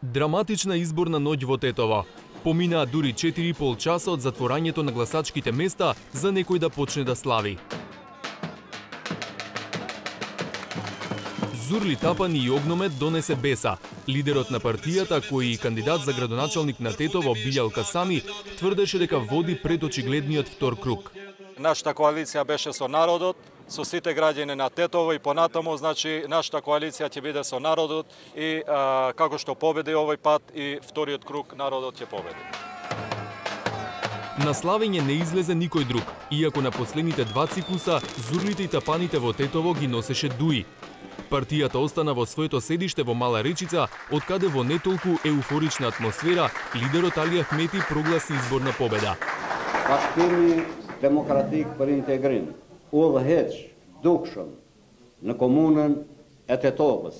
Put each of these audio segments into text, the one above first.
Драматична изборна ноќ во Тетово. Поминаа дури 4,5 часа од затворањето на гласачките места за некој да почне да слави. Зурли Тапани и огномет донесе беса. Лидерот на партијата, кој и кандидат за градоначалник на Тетово Билјал Касами, тврдеше дека води пред очигледниот втор круг. Нашата коалиција беше со народот, со сите граѓани на Тетово и понатаму, значи нашата коалиција ќе биде со народот и како што победи овој пат и вториот круг народот ќе победи. На славење не излезе никој друг, иако на последните два циклуса зурлите и тапаните во Тетово ги носеше Дуи. Партијата остана во своето седиште во Мала Речица, откаде во не толку еуфорична атмосфера лидерот Али Ахмети прогласи изборна победа. Partimi Demokratik për Integrim udhëheq dukshëm në komunën e Tetovës.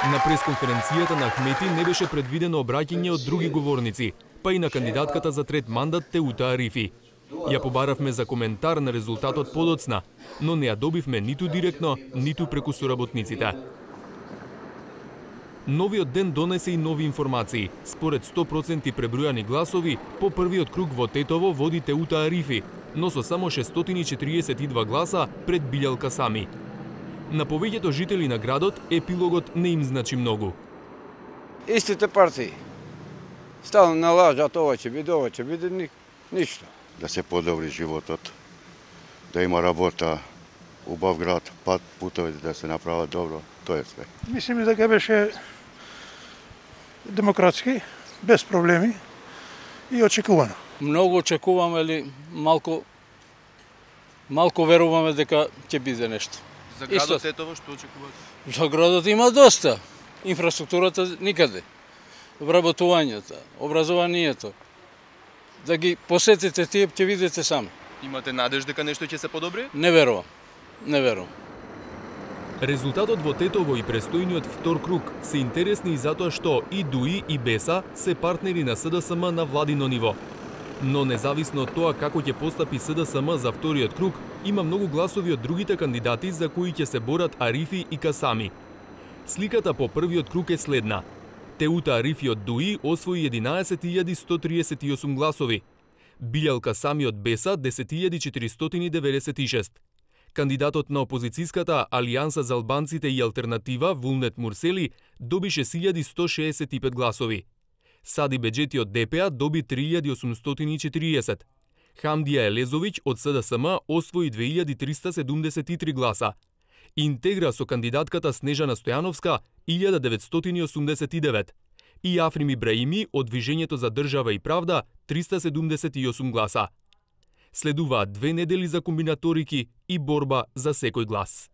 На пресконференцијата на Ахмети не беше предвидено обраќање од други говорници, па и на кандидатката за трет мандат Теута Арифи. Ја побаравме за коментар на резултатот подоцна, но не ја добивме ниту директно, ниту преку соработниците. Новиот ден донесе и нови информации. Според 100% пребројани гласови, по првиот круг во Тетово води Теута Арифи, но со само 642 гласа пред Билјал Касами. На повеќето жители на градот, епилогот не им значи многу. Истите партии. Стално налажат ова ќе биде, ништо. Да се подобри животот, да има работа, убав град, путовите да се направат добро, тоа е све. Мислим дека беше демократски, без проблеми и очекувано. Многу очекуваме, или малку веруваме дека ќе биде нешто. За градот Тетово што очекувате? За градот има доста. Инфраструктурата никаде. Вработувањето, образованието. Да ги посетите тие, ќе видите сами. Имате надеж дека нешто ќе се подобри? Не верувам. Резултатот во Тетово и престојниот втор круг се интересни и затоа што и Дуи и Беса се партнери на СДСМ на владино ниво. Но независно од тоа како ќе постапи СДСМ за вториот круг, има многу гласови од другите кандидати за кои ќе се борат Арифи и Касами. Сликата по првиот круг е следна. Теута Арифи од Дуи освои 11.138 гласови. Билјал Касами од Беса 10.496. Кандидатот на опозицијската Алијанса за албанците и алтернатива Вулнет Мурсели доби 6.165 гласови. Сади Беџети од ДПА доби 3.840. Хамдија Елезовиќ од СДСМ освои 2.373 гласа. Интегра со кандидатката Снежана Стојановска 1989 и Африм Ибраими од Движењето за држава и правда 378 гласа. Следуваат 2 недели за комбинаторики и борба за секој глас.